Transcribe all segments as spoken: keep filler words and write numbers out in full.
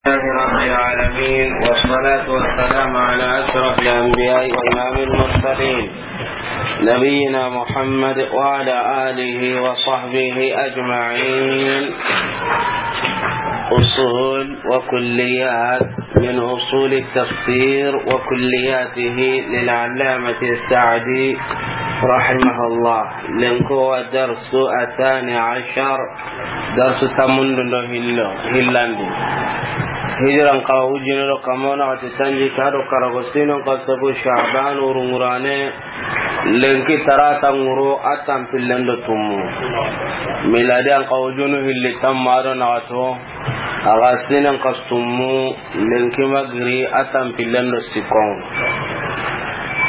لله رب العالمين، والصلاة والسلام على أشرف الأنبياء وإمام المرسلين، نبينا محمد وعلى آله وصحبه أجمعين. أصول وكليات من أصول التفسير وكلياته للعلامة السعدي رحمه الله. Lenki wo darsu الثاني عشر. Darsu tammundu do hillo, hillandi. Hijiran kawa wujine do kamo na xati tanjikke do karago, sinon ka sabu Sha'ban wurungurane, lenki tarata ŋuro a tanpillen do tummu. Miladi an kawa wujunu hilli tamma do naxato, a ga sinon ka tummu, lenki magiri a tanpillen do sikkon.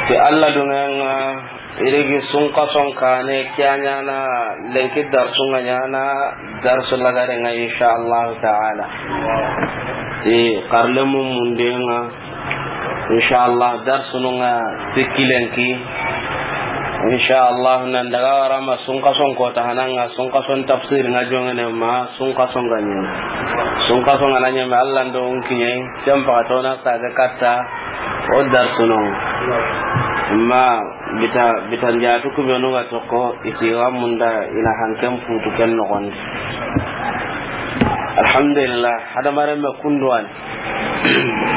Ti Alla duŋeŋa, Irigi sunkason kane ke ya ɲana, lenki darsu ŋa ɲana, darsu lagare ŋa, insha Allah ta'ala. Ti karle mu munde ŋa, insha Allah, darsu nu ŋa sikki lenki. Insha Allah, nan daga wara ma sunkason kota hana ŋa, sunkason tafsir ŋa joŋene ma, sunkason ga ɲi. Sunkason ga na ɲeme Alla ndo unkiɲe, ken paxatona sage katta, o darsu nu. Ma, Bita, bita njatu ku benu ga tokko, i ti ga munda i na hanken putu ken noxondi. Alhamdulillah, hadamaren me kunduwani.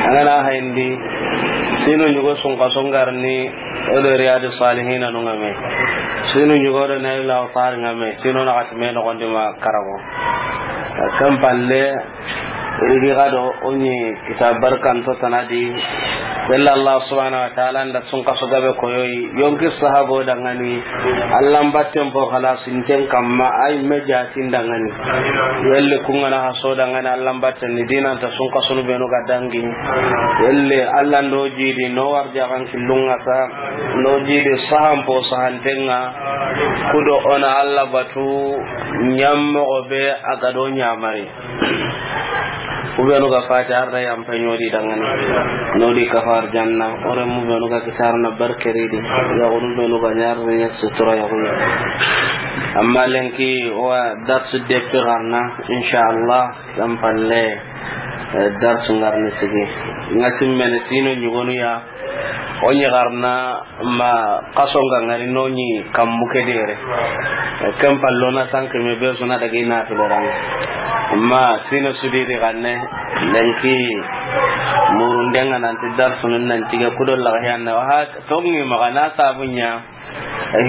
An ga na hayindi, sinu ɲugo sunkason garni, o do Riyadu Salihina nu ŋa me. Sinu ɲugo do Nailul Awtar ŋa me, sinu naxati me noxondi ma karago. Ken palle, Irigi ga do o ɲi kita barkanto tana di. Walla Allah subhanahu wa ta'ala nda sunkaso gabe koyoyi. Yonki sahabo dangani. Alla mbatten po xalasinten kamma ay me jatin dangani. Yelle ku ŋa na haso dangani Alla mbatten ni dinanta sunkasunu benu ga dangi. Yelle Alla ndo jidi no warjaxan killunŋa sa. No jidi sahan po sahanten ŋa. Kudo o na Alla batu ɲammoxo be a ga do ɲamari. Ku benu ga fati arda yampa ɲodi dangani. Nodi kafar janna. Ore mu benu ga kitar na barkeridi. Ya gunu benu ga ɲarni sutura ya gunu. Amma lenki wa darsu deppe garna, insha Allah, ken palle, eh, darsu ngarni sigi. Ŋa simmene sinu ɲugonu ya. O ɲi garna ma kaso nga ŋari no ɲi kambu ke dere. Ken pallo na sanke me be suna daga ina filoran. Ma sino sudiri ganne lenki murundenga nanti darsu nun nan tige kudo laga yanna. Wa ha tongi magana sabunya.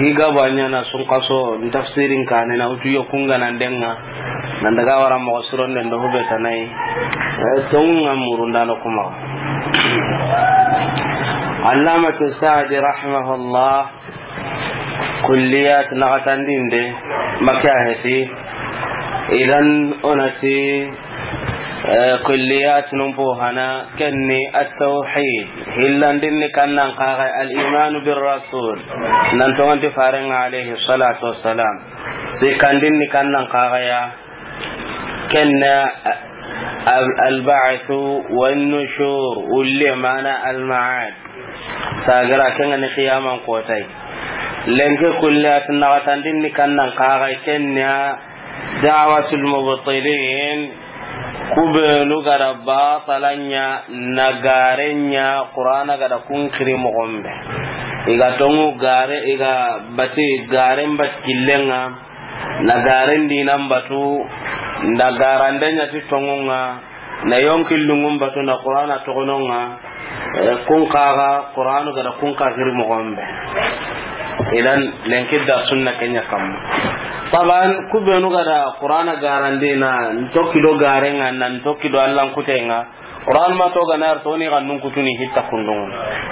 Higa banya na sunkaso tafsirin kane na utu yo kunga nan denga. Nan daga wara moxo sironden do hube tanai. Eh, tonga murundano kuma. Allamatu Sa'di rahimahullah, kulliyat naxatandinde, maka heti. Idan onati, eh, kulliyat nun po hana, kenni at-tawhid. Hillandinni kannan kaga al-imanu bir rasul. Nan tonganti farenga alayhi salatu wassalam. Sikkandinni kannan kaga ya. Kenna al-, al-ba'thu wan-nushur, ulle mana al-ma'ad. Sagira kenga ni qiyaman kotay. Lenke kulliyat naxatandinni kannan kaga kenna da'watul mubtilin, kubenu gada batalanya, nagarenya, Qur'ana gada kunkiri moxombe. Iga tongu gare, iga bati garen bat killenga, na garen dinan batu, nda garande ɲa ti tongunga, na yonki lungun batu, na Qur'ana togononga, eh, kun kaga, Qur'anu gada kun kagiri moxombe. Idan, lenki darsun na kenya kamma. Taban, kubenu gada Qur'ana garandina, ntoki do garenga, na ntoki do Allan kutenga, Qur'an ma to ganar to ni gannun kutuni hitta kundunga.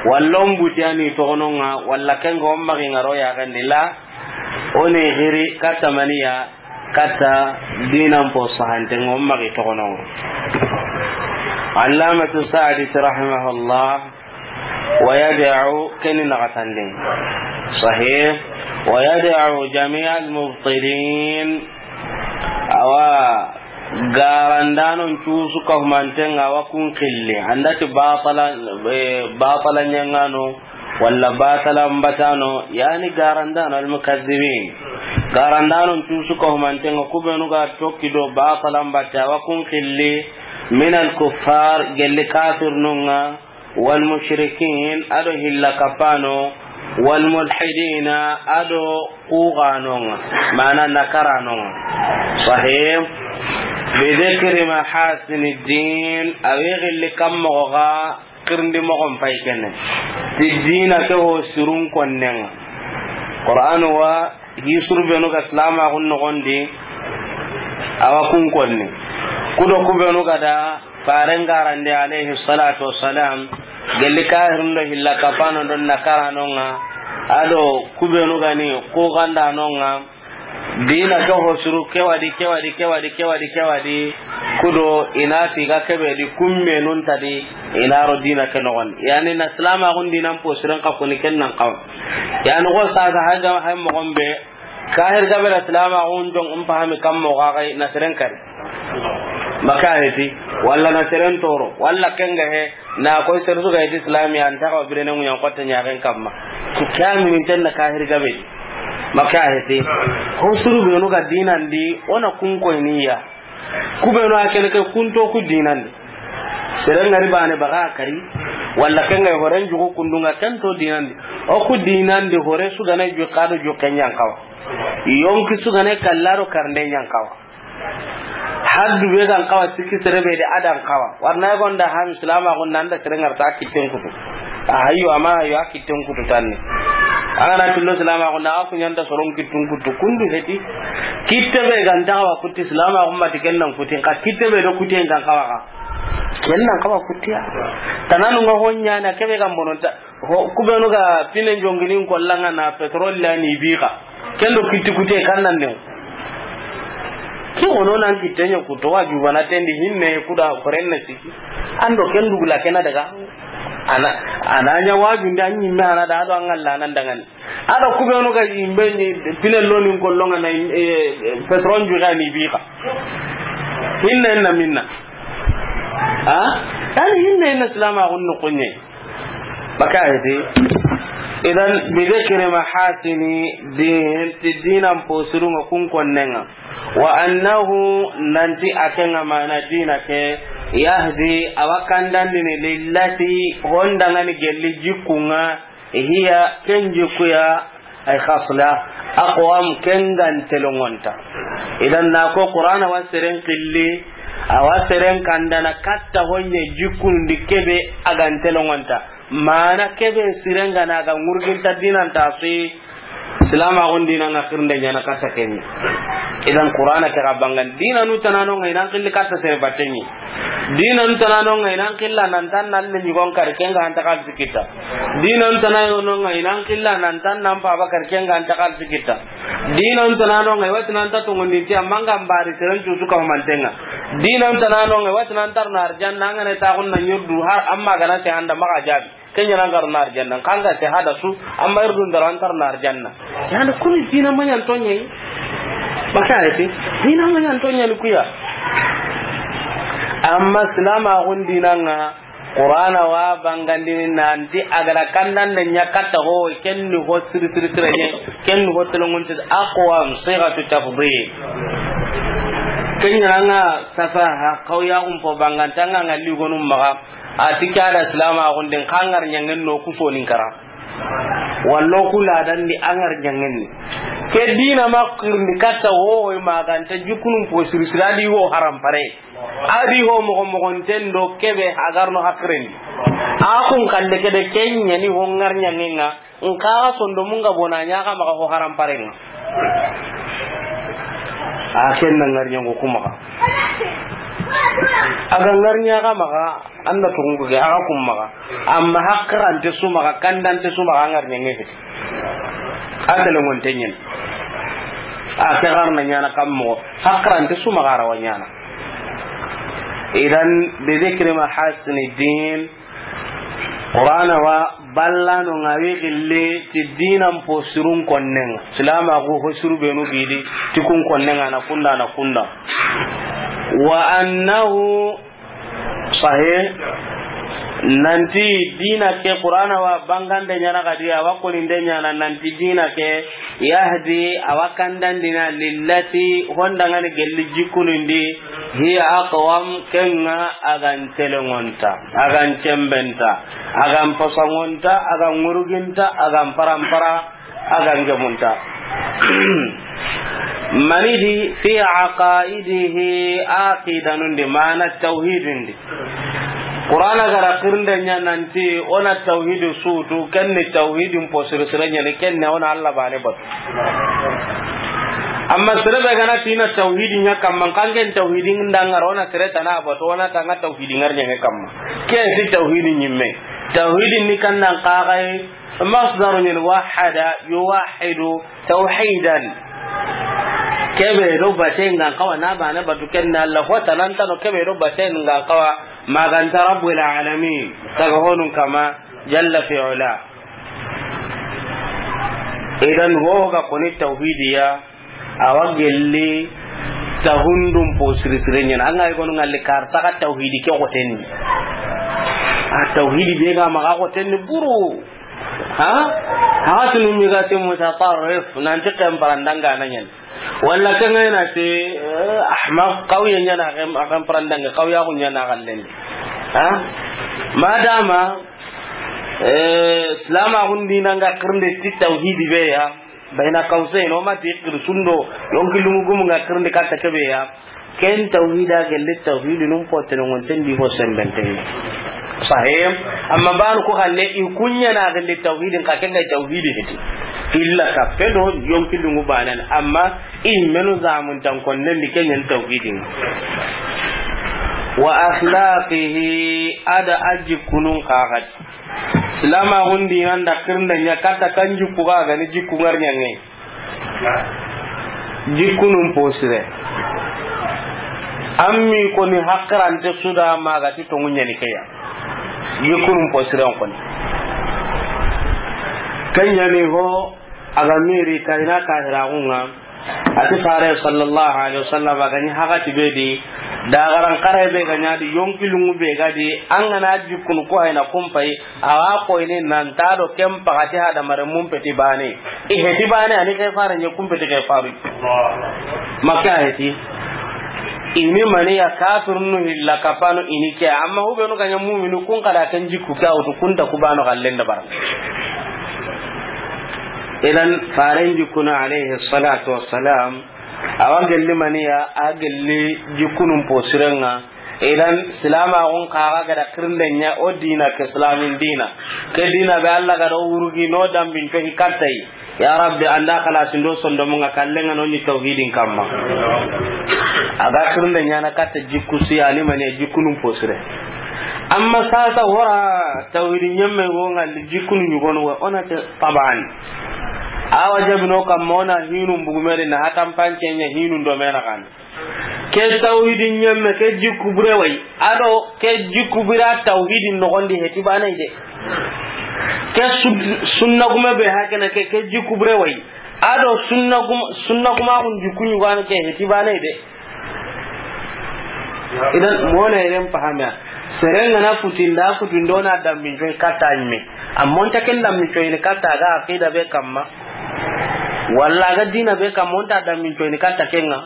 Walla on butiyani togononga, walla kenga on magi ngaro ya gandila, Oni giri katta maniya, katta dinan po sahante ŋo magi togono. Allamatu Sa'di rahimahullah, wa yad'u, keni naxatandi. Sahih. Wa yad'u jami'al mubtilin. Awa, garandanon cusu kahumanten ŋa wa kun xilli. Andati batala, eh, batala ɲaŋano. Walla batala mbatano, yani garandano almukazzibin. Garandanon cusu kahumanten ŋa kubenu ga tokki do batala mbatte, awa kun xilli, Min al-kuffar, gelli kafirnun ŋa, wal mushrikin, a do hilla kapano, wal mulhidina, a do kuxanon ŋa, mana nakaranon ŋa. Sahih. Bi dhikri mahasini din, a wi gilli kammoxo ga xirindi moxon pay kene. Ti dina ke ho sirun konnen ŋa. Qur'anu wa hi suru benu ga silamaxun noxon di, a wa kun konni. Kudo ku benu ga da faren garandi alayhi salatu wassalam, gelli kahirin do hilla kapano do nakaranon ŋa, a do ku benu ga ni kuxandanon ŋa, dina ke ho suru ke wa di, ke wa di, ke wa di, ke wa di, ke wa di, kudo i na ti ga kebe di kummenun ta di, i na ro dina ke noxon. Yani na silamaxun dinan posiren xa koni ken nan xawa. Yani xo sasa hay ga, hay moxon be, kahir gabe da silamaxun jon in pahami kammoxo ga na seren kari. Maka heti, walla na seren toro, walla ken ga he, na koy sere su ga heti silami an ta xawa birene ŋuɲan xotte ɲaxen kamma. Ki kaminin ten na kahir gabe di. Maka heti. Ho suru benu ga dinan di, o na kun koyni ya. Ku benu a kene ke kun to ku dinan di. Seren ŋari bane baga kari, walla ken ga horen jugu kundun ŋa ken to dinan di. O ku dinan di hore su ga na ju kado ju ken ɲan xawa. Yonki su ga na kallaro karnde ɲan xawa. Haddu be gan xawa sikki sere be de a dan xawa. Warna gonda ham silamaxun nan da sere ŋarta kitten kutu. A hayyo ama hayyo a kitten kutu tanni. An ga na tillo silamaxun na a ku ɲan da soron kittun kutu. Kundu heti. Kitte be gan ta xawa kutti silamaxun ma ti ken nan kutti. Ka kitte be do kutti en gan xawa ka. Ken nan xawa kutti ya. Tananu ŋa ho ɲana kebe gan bononta. Ho, ku benu ga pinen jonginin kollan ŋa na petrol la ni bi xa. Ken do kitti kutte kan nan ne. Ki wono nan kitte ɲa kuto wa jubana tendi hinne kuda koren na siki. An do ken dugula kena daga. Ana, ana ɲa wajunde an ɲimme ana da do an ŋalla nan dangani. A do ku benu ga yimbe ni pinen lonin kollon ŋa na, eh, petrol ju ga ni bi xa. Hinne na minna. Ha? Yani hinne na silamaxun no konye. Maka heti. Idan, bi dhikri mahasini din, ti dinan posiru ŋa kun konnen ŋa. Wa annahu, nanti a ke ŋa mana dina ke, yahdi, a wa kandandini lillati, honda ŋa ni gelli jikku ŋa, hiya, ken jikku ya, ay khasla, aqwam, ken gan telongonta. Idan na ko Qur'ana wa seren killi, a wa seren kandana katta honye jikkundi kebe a gan telongonta. Mana kebe siren ga na ga ŋurginta dinan ta su yi, silamaxun dinan ŋa xirinde ɲana katta kenni. Idan Qur'ana ke ga bangan dinanu tanano ŋa i nan killi katta sere batenni. Dinanu tanano ŋa i nan killa nan tan nan le ɲugon kar ken ga anta xalisi kitta. Dinanu tanano ŋa i nan killa nan tan nan paba kar ken ga anta xalisi kitta. Dinanu tanano ŋa i wa ti nan ta tongondinti amma ŋa mbari seren cusu ka mantenga. Dinanu tanano ŋa i wa ti nan tar na arjanna ŋa ne ta xun na ɲurdu har amma ga na se anda maxa jabi. Ken ɲa na ŋa ro na arjanna, xa ŋa se hada su, amma irdu ndara antar na arjanna. Yani kuni dina maɲan toɲe. Maka heti, dina maɲan toɲe ni kuya. Amma silamaxun dinan ŋa, Qur'ana wa bangandini nanti a ga ra kandande ɲa katta ho, ken ni ho siri siri siri ɲe, ken ni ho telongonti aqwam, sighatu tafdil. Ken ɲa na ŋa safaha, xawya xun po banganta ŋa ŋa ligonun maxa. A ti ke a da silamaxun din xa ŋar ɲangen no ku sonin kara. Wallo ku ladan di a ŋar ɲangen ni. Ke dina ma xirindi katta ho, ho ma ganta jikunun po siri siri a di ho haram pare. A di ho moxo moxonten do kebe a ga ro no hakiren di. A kun kande ke de ken ɲa ni ho ŋar ɲangen ŋa. Nka ga sondo mun ga bona ɲa ga maxa ho haram pare ŋa. A ken na ŋar ɲango ku maxa. A ga ŋar ɲa ga maxa, an da tungu ke, a ga kun maxa. Amma hakkirante su maxa, kandante su maxa, a ŋar ɲange heti. A telengonte ɲen. A ke xarna ɲana kam moxo, hakkirante su maxa a ra wa ɲana. Idan, bi dhikri mahasini din, Qur'ana wa ballano ŋa wi gilli ti dinan po sirun konnen ŋa. Silamaxu ho siru benu gidi ti kun konnen ŋa na kunda na kunda. Wa annahu sahih. Nanti dina ke Qur'ana wa bangande ɲana xadi, a wa koninde ɲana nanti dina ke yahdi, a wa kandandini lillati, hondangani gelli jikkunundi, hiya aqwam, kenga a gan telengonta, a gan cembenta, a gan pasangonta, a gan ŋuruginta, a gan parampara, a gan gemunta. Mani di fi aqaidihi, aqidanundi, mana tawhidundi. Qur'ana gara kirinde ɲa nanti ona tawhidi sutu, kenni tawhidin po sire sire ɲani, kenne ona Allah bane batu. Amma sere be gana tina tawhidi ɲa kamma, kangen tawhidin dangara ona sere tana batu, ona tanga tawhidi ngar ɲange kamma. Ke si tawhidi ɲimme. Tawhidi ni kannan kaxay masdaru ɲani wahada yuwahidu tawhidan. Kebe do baten gan kawa na bane batu kenna Allah, ho tanantano kebe do baten gan kawa maganta rabbul alamin, taga honun kama jalla fi ula. Idan ho ga koni tawhidiya, a wa gelli tahundun po siri sire ɲana. An ga yi gonu ngalli karta ka tawhidi ke gotenni. A tawhidi be ga maga gotenni buru. Ha? Ha tunu mi ga te mutatarrif, nanti ken parandanga na ɲan. Walla ken ga na te, eh, ahmaq, kawye ɲana, ken, ken parandanga, kawya ku ɲana gallen. Ha? Madama, eh, Islam a gundi nanga kirinde ti tawhidi be ya. Bayna qawsayn, o ma ti kir sundo, yonki lungu gumu nga kirindi katta kebe ya. Ken tawhida gelli tawhidi num potene ngonten di ho sembenten. Sahih. Amma banu ko xanne i kunya na gelli tawhidin ka kenga tawhidi heti. Illa ka pedo yonki lungu banan. Amma i menu zamun tan konnen di kenyen tawhidin. Wa akhlaqihi, ada aji kunun kaxat. Silamaxun dinan da kirinde ɲa katta kan jikku ga gani jikku ngar ɲange. Jikkunun posire. An mi koni hakkirante suda magati tongu ɲani keya. Jikkunun posiren koni. Ken ɲani ho a ga miri kayina kahiraxunga. A ti fare sallallahu alaihi wasallam a ga ɲi hakati be di, dagaran kare be ga ɲa di, yonki lungu be ga di, an ga na jikkunu ko hayna kumpay, a wa koyni nan ta do ken pakati hadamare mun peti bane. I heti bane, ani ke fare ɲe kun peti ke faru. Makka heti. Ini mani ya kafirnu hilla kapano ini ke, amma hubenu ga ɲa muminu kun kada ken jikku ka wutu kun ta kubano gallenda bara. Idan faren jikkunu alayhi salatu wassalam, a wa gelli maniya, a gelli jikkunun posirenga. Idan silamaxun kaxa gada kirinde ɲa o dina ke islamin dina. Ke dina be Allah gada o wurugi no dambin to hikattay. Ya Rabbi, anda xalasindo sondomunga kallenga no ɲi tawhidin kamma. A ga kirinde ɲana katta jikku siyani maniya jikkunun posire. Amma sasa wora tawhidi ɲemme go ngalli jikkunu ɲugonu wa ona te taban. Awa jabino kamma ona hinun bugumeri na hatan panceɲa hinun do mena kan. Ke tawhidi ɲemme ke jikku bure way. Ado ke jikku bira tawhidi nogondi heti banay de. Ke sud-, sunna gume be hakena ke, ke jikku bure way. Ado sunna gum-, sunna guma kun jikku ɲugana ke heti banay de. Idan, mona yeren pahamiya. Serenga na futinda, futindo na dambin coy katta ɲime. Amma onta ken dambin coy ni katta ga aqida be kamma. Walla ga dina be kamma, onta dambin coy ni katta kenga.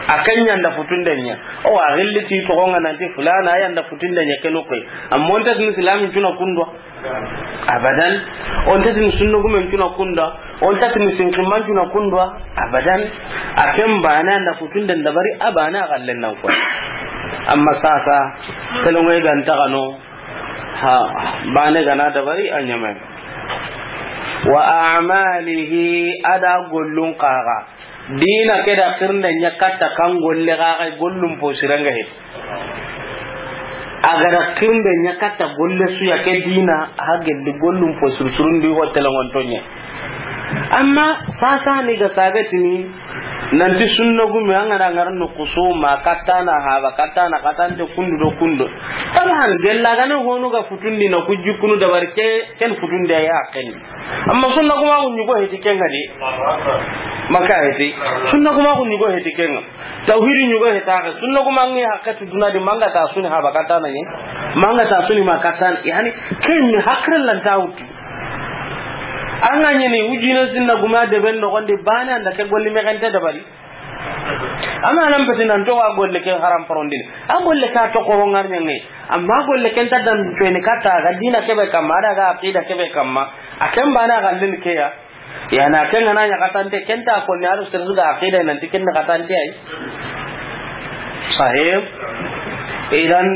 A ken ɲanda futunde ɲa. O wa gilli ti togonga nanti fulana yanda futunde ɲa kenu koy. Amma onta tin islamin tuna kundwa. Abadan. Onta tin sunna gumen tuna kunda. Onta tin sinkiman tuna kundwa. Abadan. A ken bana nda futunden dabari a bana gallen nan ko. Amma sasa, telongoy ganta kano. Ha, bane gana dabari a ɲame. Wa a'malihi, ada gollun kaga. Dina ke da kirinde ɲa katta kan golle ga ga gollun posiranga he. A ga da kirinde ɲa katta golle su ya ke dina, a gelli gollun posir surundi ho telongon tonye. Amma sasa ni ga sagatini, Nanti sunna gume, an ga na ŋara no kusuma, katta na haba, katta na katante kundu do kundo. Taban, gella ga na honu ga futundi na ku jikkunu dabari ke, ken futundi ya ken. Amma sunna gume ku ɲugo heti ken ŋa di. Maka heti. Sunna gume ku ɲugo heti ken ŋa. Tawhidi ɲugo heta ke. Sunna gume ŋi hakka tu duna di, manga ta suni haba katta na ɲi. Manga ta suni ma katta na. Yani, ken ni hakre lan ta wutu. An ga ɲi ni wujina sunna gume de ben no gondi bana anda ke golli me kente dabari. Amma nan peti nan to a golle ke haram parondini. A golle ka to ko ngar ɲange. Amma golle ken ta dam to ni katta ga dina kebe kamma, daga aqida kebe kamma. A ken bana ga len ke ya. Ya na ken ga na ɲa katante ken ta ko ni alu sirri ga aqida nan ti ken katante ay. Sahib. Idan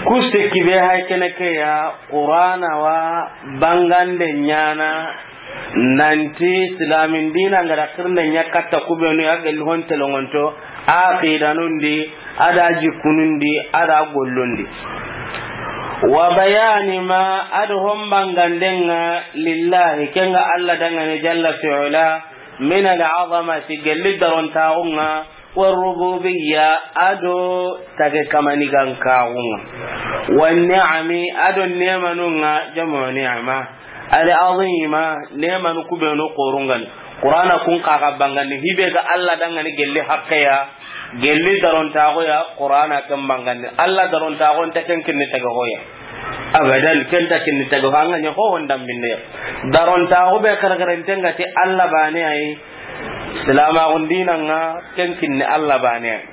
kuste kibe hay kene ke ya Qur'ana wa bangande ɲana. Nanti silamin dina nga da xirne ɲa katta kubenu ya gelli hon telongonto, a qidanundi, a da jikkunundi, a da gollundi. Wa bayani ma, a do hon bangandenga lillahi, kenga Allah dangane jalla fi'ula, min al-azamati, gelli darontaxunga, wa rububiyya, a do tage kamanigankaxunga, wa ni'ami, a do nemanunga, jamu ni'ma. Al-azima, nemanu kubenu xorungani. Qur'ana kun xaxa bangandi, hibe ga Allah dangani gelli haqqeya, gelli darontaxoya, Qur'ana ken bangandi. Allah darontaxo nta ken kinni taga hoya. Abadan, ken ta kinni taga ho, an ga ɲa ho hondambinde. Darontaxo be xerexerenten ga ti Allah bane ay, silamaxun dinanga, ken kinni Allah bane ay.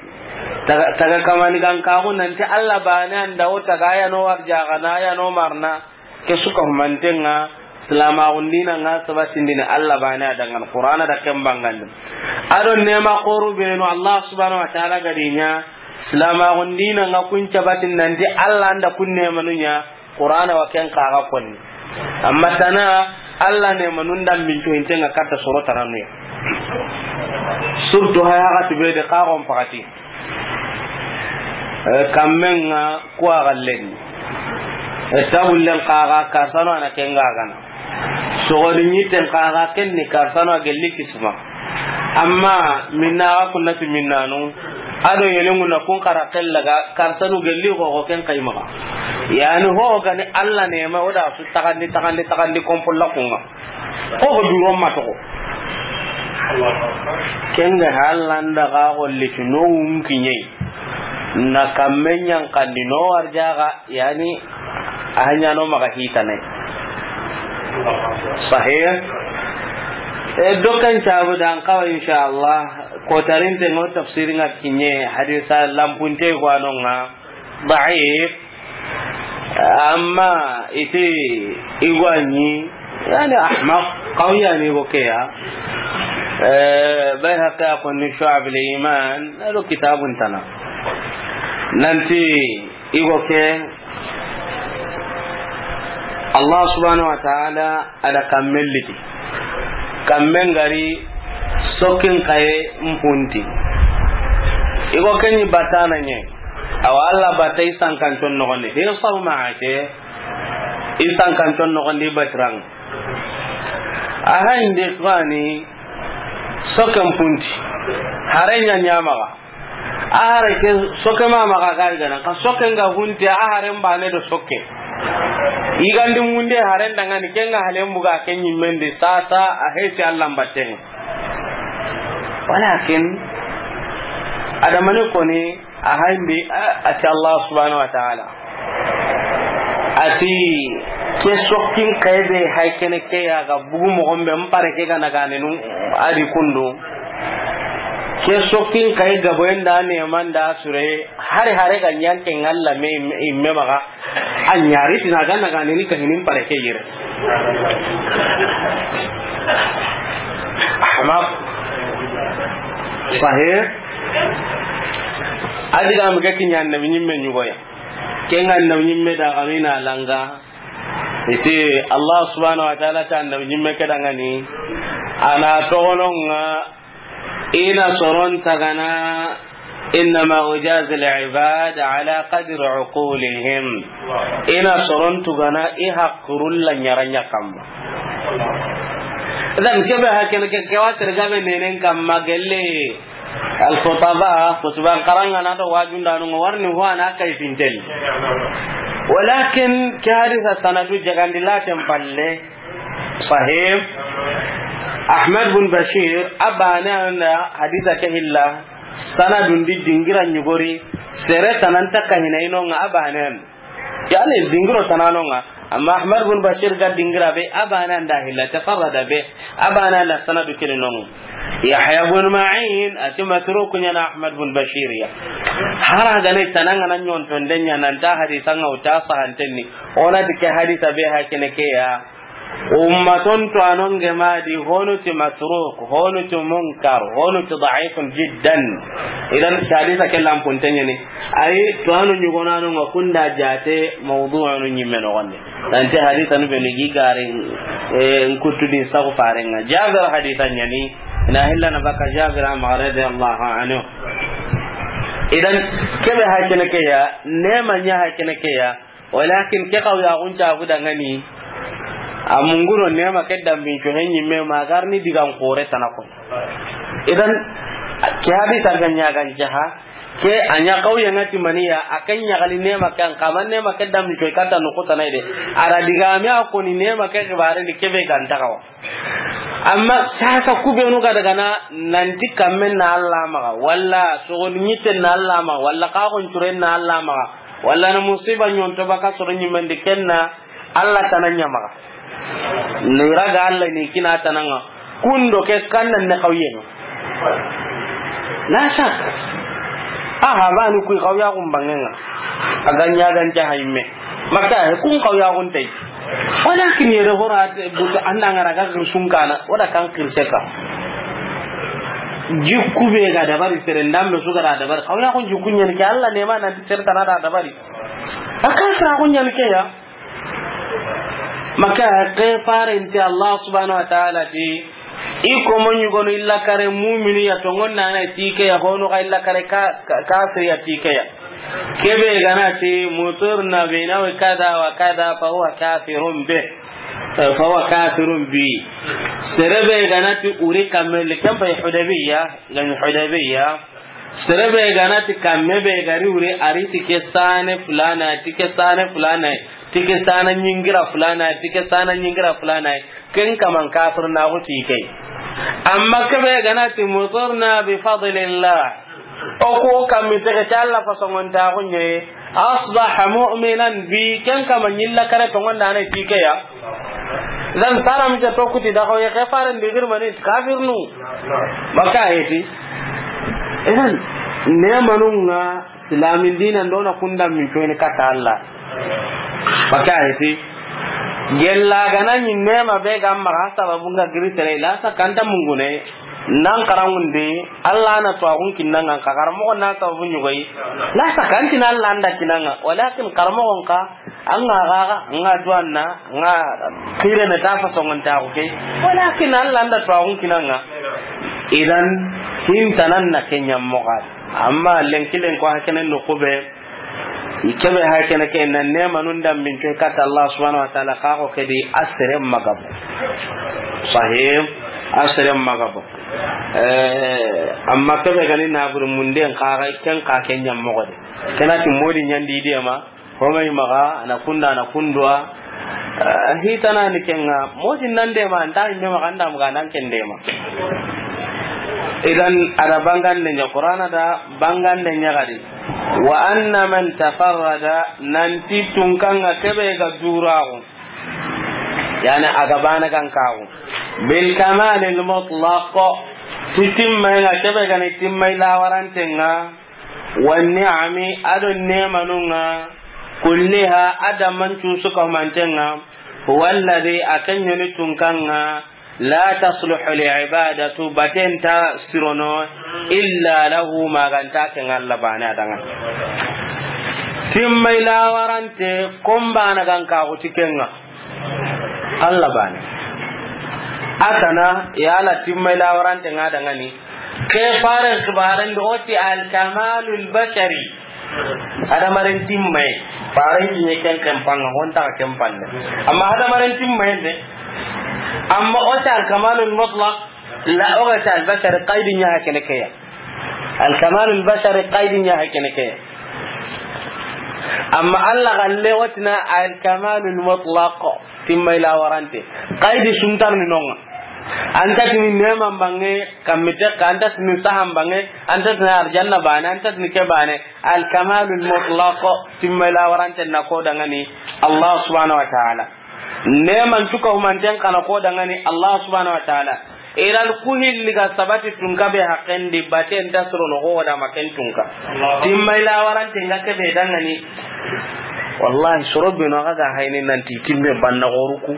Taga, taga kamanigankaxu nanti Allah bane anda o taga ya no warjaxana, ya no marna. Ke suka humantenga, silamaxun dinanga sabatindini Allah bane a dangan, Qur'ana da ken bangandi. A do nema xoru benu Allah subhanahu wa ta'ala gadinya, silamaxun dinanga kun cabatin nanti Allah anda kun nemanu ɲa, Qur'ana wa ken xaxa konni. Amma tana Allah nemanun dambinto intenga katta soro tananuya. Surtout haya xati be de xaxon pakati. Eh, kammenga kuwa gallen. Eh, tabullen xaxa karsano ana kenga gana. Sogodi ɲitten xaxa kenni karsano a gelli kisma. Amma minna ga kunnati minnanu. A do yelengu na kun xara kellaga karsanu gelli xoxo ken kaymaxa. Yani ho gani Allah nema o da su taxandi, taxandi, taxandi kompolla kunga. Ko ko duro ma toxo. Kenga halanda ga golli tu no wun kiɲe. Na kamme ɲankandi no warjaga, yani, a ɲa no maxa hitane. Sahih. E, dokan cabu dan kawa, inshallah. Ko tarinte ngo tafsiri nga kiɲe, hadisa lampunte ko anonga. Da'if. Amma iti igwani, yani, ahmaq, qawiyani go keya. Eh, Bayhaqi a konni Shu'ab al-Iman, ado kitabun tana. Nanti igo ke, Allah subhanahu wa ta'ala ada kammen liti. Kammen gari sokkin kaye mpunti. Igo kenyi batana nye. Awa Allah bata isan kanton nogondi. He saw maake isan kanton nogondi batirang. Aha inde kwani sokken punti. Hare nya nyamaga. A hare ke sokke ma maga ga igana. Ka sokke nga hunte a hare mbane do sokke. Igandi munde hare ndangani kenga hale mbuga ke nyimmendi sasa a heti Allah mbatten. Walakin adamani koni a hayndi a, ati Allah subhanahu wa ta'ala. Ati ke sokkin kaybe hay kene ke ya ga bugu mogombe mpare ke ga nagane nun adi kundu. Ke sokkin kay gabo enda ne manda sure hari hare ga nyanke ngalla me imme maga. A ɲari tina ga nagane ni kahinin pare ke yere. Ahmaq. Sahih. Adiga mi ga kinya annabi nyimme nyugoya. Kenga annabi nyimme da gamina langa. Iti Allah subhanahu wa ta'ala ta annabi nyimme ke dangani. Ana togononga. Ina soron tagana, innama ujazi al-ibad ala qadri uqulihim. Ina soron tugana i hakkurulla nyaranya kamma. Idan, kebe ha kene ke, ke wa tere gabe nenen kamma gelle. Al-khutaba, khutban karanga na do wajundanu warni huwa na kay fintel. Walakin ke hadisa sanadu jagandi laten palle. Sahih. Ahmad bin Bashir, abane anda hadisa ke hilla. Sanadun di dingira nyugori. Sere tananta kahina inonga abane an. Yani, dingiro tananonga. Amma Ahmad bin Bashir ga dingira be, abana nda hilla, tafarrada be, abana nda sanadu kene nonga. Yahya bin Ma'in, ati Masruq ɲana Ahmad bin Bashir ya. Hara gane tananga na ɲonton denya nan ta hadisa nga uta sahantenni. Ona dike hadisa be ha kene ke ya. Ummaton to anonge madi, honu ti Masruq, honu ti Munkar, honu ti da'ifun jiddan. Idan hadisa ke lampuntenyani. Ay, to anu ɲugonanu nga kunda jate mawdu'anu ɲimme noxonde. Nanti hadisanu be ni gi gari, eh, nkutudi sagu farenga. Jabir hadisa ɲani, na hilla na baka Jabir ama radiyallahu anhu. Idan, kebe ha kene ke ya, nema ɲa ha kene ke ya, walakin ke xaw ya gunta bu dangani, a munguro nema ke dambin co he ɲimme ma garni digan kore tanako. Idan, ke hadisa ga ɲa gan jaha, ke a ɲa kauye nga ti maniya, a ke ɲagali nema ke an kama nema ke dam ni coy kata no kota na ide. Ara diga mi a koni nema ke xibare ni kebe ganta kawa. Amma sasa kubenu ga daga na nanti kammen na Allah maga, walla sogon nyitten na Allah maga, walla kagon curen na Allah maga, walla na musiba ɲonto baka soro ɲimmendi kenna Allah tana ɲamaga. Ni raga Allah ni kina tananga. Kundo ke kannan ne kauyen. La shak. Aha, bani kuy kauya gum bangenga. Aga ɲa gan jaha imme. Makka he kun kauya gun tay. Walakin yere hora butu anda ngara ga kirsun kana, wala kan kirseka. Jikku be ga dabari sere ndambe su ga dabari. Kauya gun jikku ɲen ke Allah ne ma nan sere tana da dabari. Aka sira gun ɲen ke ya. Maka ke farenti Allah subhanahu wa ta'ala ti, i komo ɲugonu illa kare mumini ya tongon nana ti ke ya, hono ga illa kare ka, ka, kafir ya ti ke ya. Kebe gana ti mutirna bi nawi kada wa kada fa huwa kafirun bi. Fa huwa kafirun bi. Serebe gana ti uri kamel kempa Hudaybiya, gani Hudaybiya. Serebe gana ti kamme be gari wure, ari ti ke sane fulana, ti ke sane fulana, ti ke sana nyingira fulana, ti ke sana nyingira fulana. Ken kaman kafir na go ti ke. Amma kebe gana ti mutirna bi fadlillah. O ko kammi tege ti Allah fasongon ta gunye. Asbaha mu'minan bi, ken kama ɲilla kare tongon dana ti ke ya. Zan sara mi to kuti da ko ye ke faren di girmani kafirnu. Maka heti. Idan, nemanunga silamin dinan dona kunda min coyni kata Allah. Maka heti. Gella gana ɲi nema be ga maxa sababu nga giri tere la sa kanta mungune. Nan karangundi, Allah na tuwaxun kinnanga, ka karamoxo na sababu ɲugoyi. La sakantina Allah anda kinanga, walakin karamoxon ka, an ga gaga, an ga duwanna, an ga xirene ta fasongon ta xuke. Walakin Allah anda tuwaxun kinanga. Idan, hintanan na ke ɲammoxadi. Amma lenki lenko hakene no kube, Kebe ha kene ke na nema nun dambin coy kata Allah subhanahu wa ta'ala ka ko kedi asere magabo. Sahih, asere magabo. Eh, amma kebe gani na bur munden ka ga ken ka ken ɲammoxode. Kena ti modi ɲandi de ma, homay maga, ana kunda, ana kundwa. Eh, hitana ni kenga, modi nan de ma, anda imbe maga, anda maga, nan ken de ma. Idan, ada bangande ɲa, Qur'ana da bangande ɲa gadi. Wa anna man tafarrada, nanti tunkanga kebe ga duraxu. Yani, a ga bana gan kaxu. Bil kamalil mutlaq, ti timmay nga kebe gani timmay lawarantenga. Wa ni'ami, ado nemanunga, kulliha, adaman cusu kahumantenga, huwa alladhi, a kenyoni tunkanga, la tasluhu li ibadatu, batenta sirono, illa lahu, maganta ken Allah bane adanga. Timmay lawarante, kombana gan kaxu ti kenga. Allah bane. Atana, yala timmay lawarante nga dangani. Ke faren xibaren do oti al kamalul bashari. Hadamaren timmay. Faren kiɲe ken ken panga, honta ken palle. Amma hadamaren timmay de. Amma o ta al-kamalul mutlaq, la, o ga ta al-bashari, qaidi ɲa ha kene ke ya. Al-kamalul bashari, qaidi ɲa ha kene ke ya. Amma Alla ga le o ti na al-kamalul mutlaq, timmay la warante. Qaidi su nta ni no ŋa. An ta ti ni neeman banŋe, kamite ka, an ta ti ni sahan banŋe, an ta ti ni arjanna baane, an ta ti ni ke baane. Al-kamalul mutlaq, timmay la warante na ko dangani Allah subhanahu wa ta'ala. Neeman cuka humanten xa na ko dangani Allah subhanahu wa ta'ala. Idan ku hilli ga sabati tunka be haqqen di, baten ta suro no ho da ma ken tunka. Timmay la warante nga ke be dangani. Wallahi, soro be no ga ga hayni nanti timme banna goruku.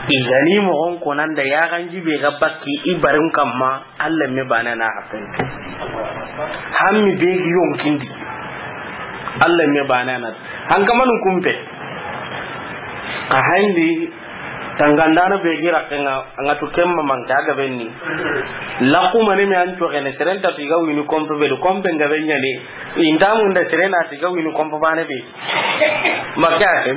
I ga ni moxon ko nan da ya ganji be ga bakki i barin kamma. Alla me baane na haqqen. Hammi be gi yonkindi. Alla me baane na. Hankamanun kumpe. A hayndi tangandana be gi raqqen ŋa, a ŋa tu kemma manka ga benni. Laku mani me an to gene, seren ta tiga wini kompe be, kompe nga be ɲani. Inda mun da sere na tiga wini kompo bane be. Maka ke.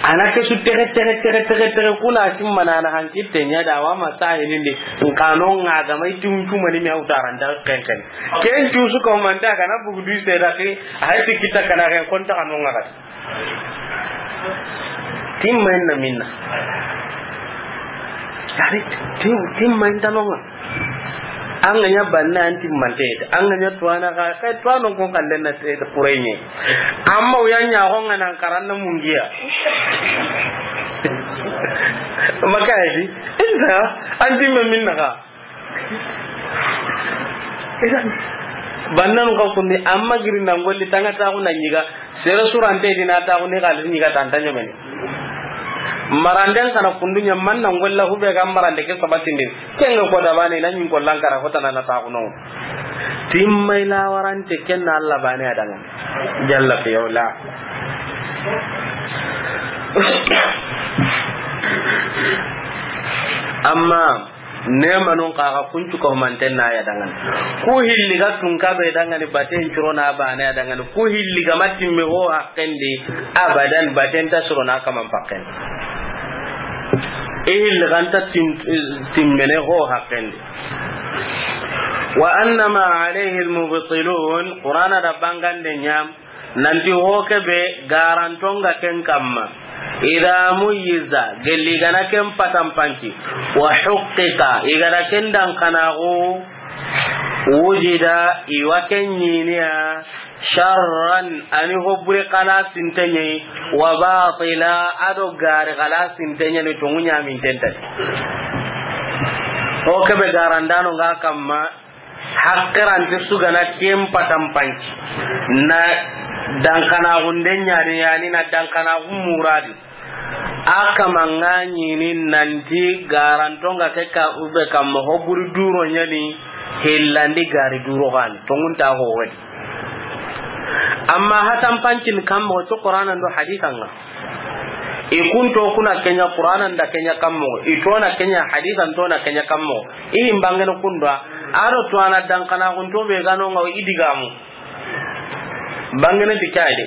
Ana ke su tege, tege, tege, tege, tege, kuna simma na, na hankitte ɲa da wa ma sahilindi. Nkano nga ga mai tum tumani me autaranta kenken. Ken tu su ko manta kana bugu du se da ke. Hay ti kita kana ken konta kanu nga ga. Timma inna minna. Yari, tim-, timma inta no ŋa. An ga ɲa banna an timmante, an ga ɲa tuwana ka, ka tuwano ko kallen na te kurenye. Amma uya ɲa ko ŋa nan karanna mungiya. Maka yi, inta, an timme minna ka. Bannan ka kundi, amma giri nan golli tanga ta ku na ɲiga. Sere surante dina ta ku ni gali ɲiga tanta ɲomene. Maranden kana kundu ɲa man nan golla hube ga marande ke sabatindin. Kenga ko da bane na ɲin gollan kara ko tanana ta ku no. Timmay la warante kenna Alla bane adanga. Jalla fi ula. Amma Neemanun xa ga kuncu ko manten na ya dangani. Ku hilli ga tunka be dangani baten curo na bane ya dangani. Ku hilli ga matimme ho haqqen di abadan baten ta suro na kaman pakken. I hilli ga nta tim-, timmene ho haqqen di. Wa annama alayhi al-mubtilun, Qur'ana da bangande ɲa. Nanti ho kebe garantonga ken kamma. Idha muyyiza, gelli gana ken patampanci. Wa huqqiqa, igana ken dankanaxu wujida, iwa ken ɲiniya, sharran, ani hobure xala sinteɲei, wa batila, ado gari xala sinteɲeni tongu ɲamintentani. Ho kebe garandano nga kamma, Hakkirante sugana ken patampanci. Na dankanaxunde ɲani, yani na dankanaxu muradi. A kamanga ɲini nanti garantonga ke ka ube kamma hoburi duro ɲani hillandi gari duro gani. Tongunta howedi. Amma hatampancin kamma to Qur'anan do haditanga. I kunto kuna kenya Qur'anan da kenya kammo, i tona kenya hadisan tona kenya kammo. I himbangene kundwa, aro to ana dankanaxunto be gano nga i digamu. Bangene ti kayde.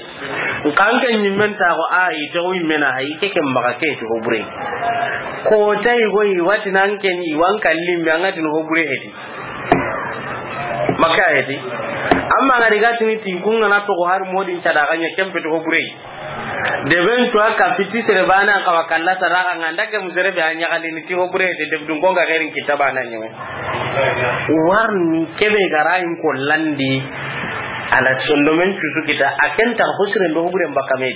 Nkanke nyimmen ta ko a i to i mena hay ke ke maga ke to hobure. Ko tay go i wati nan ken i wan kallim be angati no hobure hedi. Maka hedi. Amma ngari gatini ti kunga na to ko har modin cada ganya kempe to hobure. Deben cuwa ka fiti sere bana ka wa kalla sadaka nga ndake musere be anya kali ni tigo bure de debdun ko nga gerin kita bana nyeme. Warni kebe garayin ko landi ala sondomen cusu kita aken ta husre ndo bure mbakame.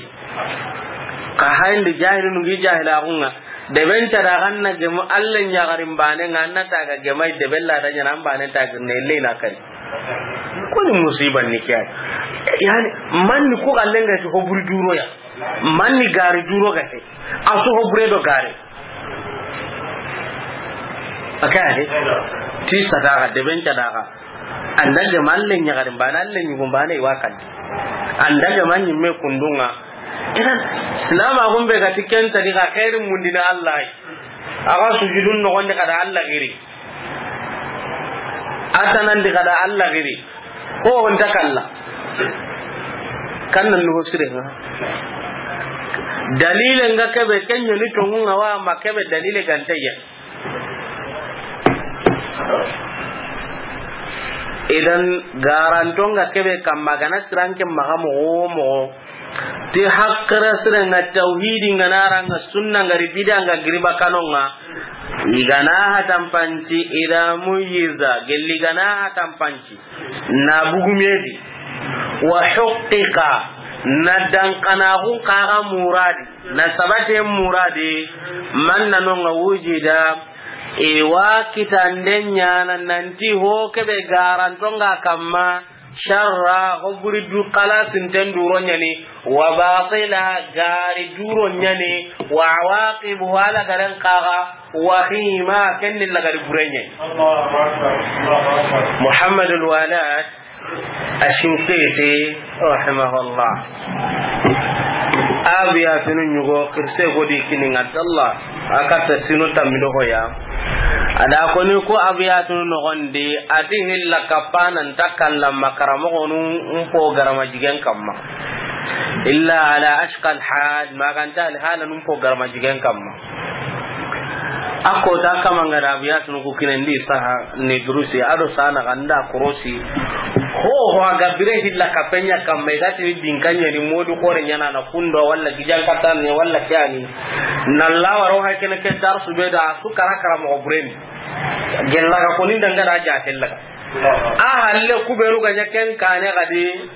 Ka hayndi jahilu ngi jahila kunga deben cada ganna gemu Allah ɲagarin bane nga na ta ga gemai debella da ɲana bane ta gerne le na kari. Koni musiba ni kiya. Yani manni ko gallenga ti hoburi duro ya. Manni gari duro gate. A su hobure do gari. Aka he. Ti sadaka deben cadaka. Andage malle ɲagarin bana alle ɲugun bana iwa kandi. Andage man ɲimme kundunga. Idan silama gumbe gati ken tadi ga khairin mundina Allah. Aga sujudun no gonde kada Allah giri. Atanandi kada Allah giri. Ko on ta kalla. Kannan no sire nga. Dalile nga kebe, ken ɲa ni tonŋu nga wa, ma kebe dalile gante ya. Idan, garanto nga kebe kamma, gana siranke maxa moxo wo moxo, ti haqqira sire nga tawhidi nga nara nga sunna nga ri bida nga giriba kano nga, i gana hatampanci, ida muyiza, gelli gana hatampanci. Na bugumedi, wa huqiqa, na dankanaxun kaxa muradi, na sabate muradi, man na nonga wujida, e wa kitande ɲana nanti ho kebe garantonga kamma, sharra, ho buri du kalasinten duro ɲani, wa batila, gari duro ɲani, wa awaqibu, wala garen kaxa, wahima, kenni lagari burenye. Allahu Akbar, Allahu Akbar. Muhammadul Walad Ashinqiti, rahimahullah. Abiyatunu ɲugo, kirse godi kini nga dalla, a katta sinu tammido hoya. A da koni ko abiyatunu nogondi, ati hilla kapana nta kalla makaramoxonu mpo garama jigen kamma. Illa ala ashqal hal, maganta alhala num po garama jigen kamma. A kota kama nga da abiyatunu ku kinendi saha ni durusi, ado sana ganda korosi. Ho, ho, a ga bire hilla kapenya kamma, i ga tini dinka ɲa ni modu xore ɲana na kundo, walla gijan katani, walla kani. Na lawaro ha kene ke darsu be da su kara kara mo buren. Gella ga koni danga da ja tellaga. A halle ku benu ga ɲa ken kane gadi.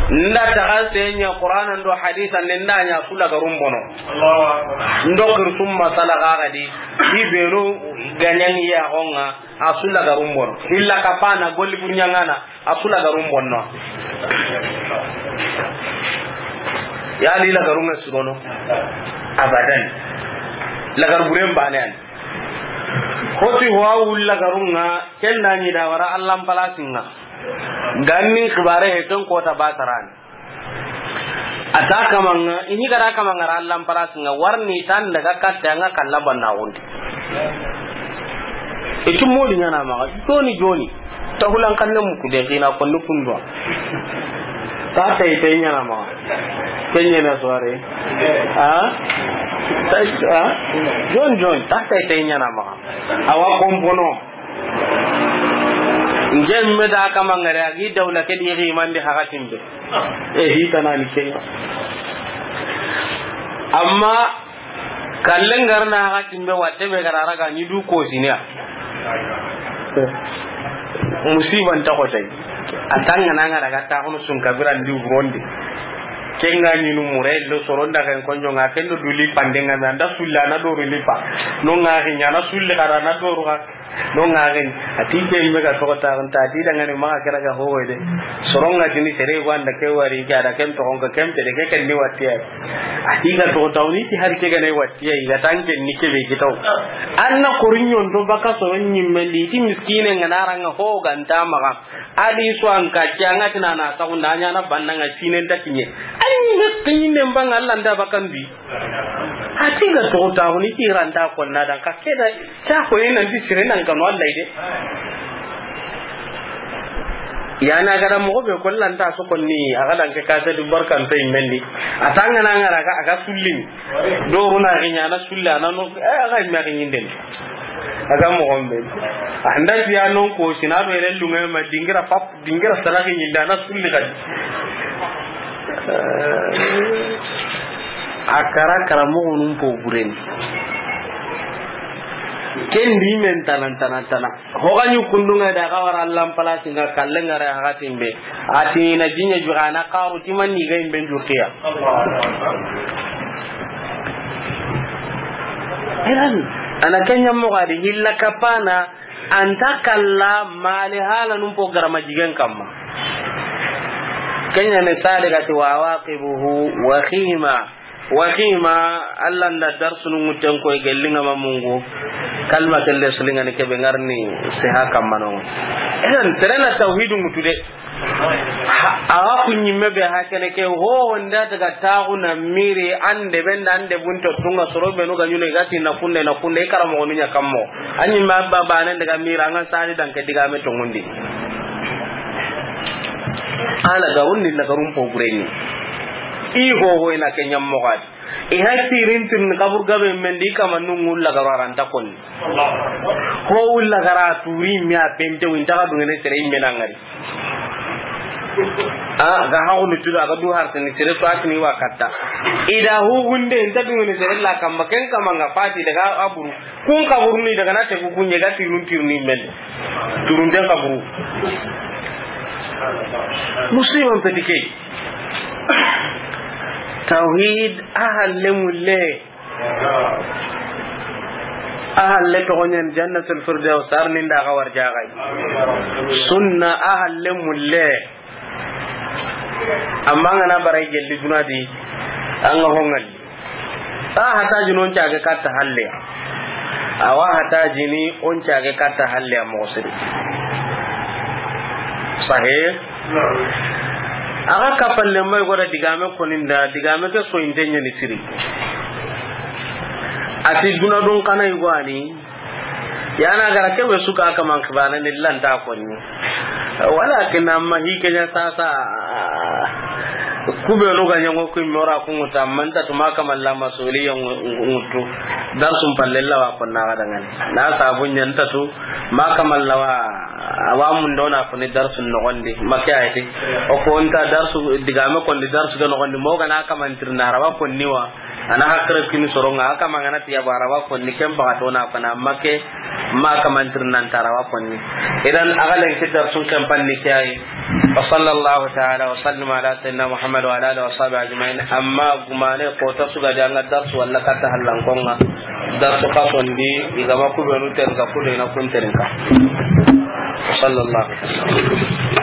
Nda taxa senya Qur'ana ndo hadisa ne nda ɲa su lagarum bono. Ndo kirsum masala ga gadi. I benu ga ɲa ni ya xonga, a su lagarum bono. Illa kapana golli burɲangana, a su lagarum bonno. Ya li lagarunga surono. Abadan. Lagar buren bane an. Hoti ho a wulla garunga, ken da ɲi da wara Allan palasinga. Ganni xibare he ken kota batarani. A ta kamanga, ini gara kamanga ra Allan palasinga, warni tan daga katte anga kalla banna wondi. Itu modi ɲana maxa, joni joni. Tahulan kanne muku de, xina konni kundwa. Ta tay tay ɲana maxa. Ken ɲana soirée. Ha? Tay, ha? Jon, jon, ta tay tay ɲana maxa. Awa kompono. Nge me da kamangare, agi dawla ke di rimandi hakatimbe. E, hitanani kenga. Amma Kallen garna hakatimbe watte be gara raga ni du kosiniya. Musiban ta xotay. A tangana nga daga ta hono sun kabira ndi wurondi. Kenga ni nu mure lo soronda kan konjo nga kendo duli pandenga me anda sulla na doru lipa. No nga ri ɲana sulli gara na doru ga. No nga ri. Ati ke me ga to ta ta ti dangane ma kera ga ho de. Soronga tini sere wanda ke wari ga da ken to onka ken pede ke ken ni wattiya. Ati ga to tawni ti har ke ga ne wattiya, i ga tanke ni ke be kitaw. Anna korinyon to baka soron nyimme ndi ti miskine nga naranga ho ganta maga. Adi so an ka kyanga tinana ta unda nya na banna nga sinen ta kinye. Ay ni kinne mbanga Allah nda bakan bi. Ati ga to tawni ti ranta ko na dan ka keda. Ta ko ina ndi sire nan kanu Allah ide. Yana gada mogo be kollanta su konni, a gadan ke kase du barkan to immendi. A tangana ngara ga, a ga sullini. Do runa ga ɲana sulla na no, eh, a ga imme ga ɲinden. A ga mo gombe. A handa tiya non ko sina do ere lunga ma dingira pap, dingira sala ga ɲinda na sulli ga. A kara kara mo gunum po buren. Ken di men tanan tanan tanan. Hoga ɲi kundunga da ga wara Allan palasi nga kallen ngare hakatin be. Ati na jinya jugana karu timan ni ga imben jurtiya. Iran, ana kenya mo gadi hilla kapana anta kalla mali hala num po garama jigen kamma. Kenya ne sade gati wa waqibuhu wa khima. Wa khima, Allah nda darsunu ŋutten koy gellinga ma mungu. Kalma kelle sulingani kebe ngarni seha kammanongo. Idan, terena tawhidu ŋutu de. Ha, awa ku ɲimme be ha kene ke, ho, honda daga taxu na miri, ande benda, ande bunto, tunga soro benu ga ɲuno, i gati na kunde, na kunde, i karamoxonu ɲa kammo. A ɲimme abba banen daga miri, anga sadi danke digame tongundi. Ala garun ni lagarun po bureni. I ho ho ina ke ɲammoxadi. I ha tirin tirin kaburu gabe men di, kamanun ŋulla garo a ra nta konni. Ho wulla gara turi me a pente, win ta ga dungene sere i me na ŋari. A ga ha woni tuda ga du har tani sere to a tini wa katta. I da hu gunde nta dungene sere la kamma ken kama nga fati daga a buru. Kun kaburuni daga na tegu kunye ga tirun tirni men. Turun den kaburu. Musliman petike. Tawhid a halle mulle. A halle toxoñen Jannatul Firdaws, ar ni nda xa warjaxay. Sunna a halle mulle. Amma ngana baray gelli duna di, an ga hongalli. A hataji non cage katta halle. Awa hataji ni on cage katta halle a moxo siri. Sahih. Aga kapalle may goda digame koninda, digame ke soyinte ñani siri. Ati duna dun kana igwani. Yana gara kebe suka kaman kibana ni lanta konni. Walakin amma hi kenya sasa, kubenu ga ñango ku mora ku ŋuta, amma nta tuma kamalla masuliya ŋutu. Darsun palle la wa konna ga dangani. Na sabu ñanta tu ma kamalla wa, wa mun dona ko ni darsun nogondi. Makke ayati. O ko nta darsu digame kondi darsu ga nogondi. Mo ga na kamantirna ra wa konni wa. Ana hakre kini soronga, a kama ngana tiya bara wa konni, ken baga to na fana, amma ke ma kamantir nan tara wa konni. Idan, a ga lenki darsun ken panni ke ay. Wa sallallahu ta'ala wa sallim ala sayyidina Muhammad wa ala alihi wa sahbihi ajma'in. Amma gumane ko ta suga di anga darsu walla katta hallan konga. Darsu ka sondi, igama kubenu ten ka kude na kun ten ka. Wa sallallahu.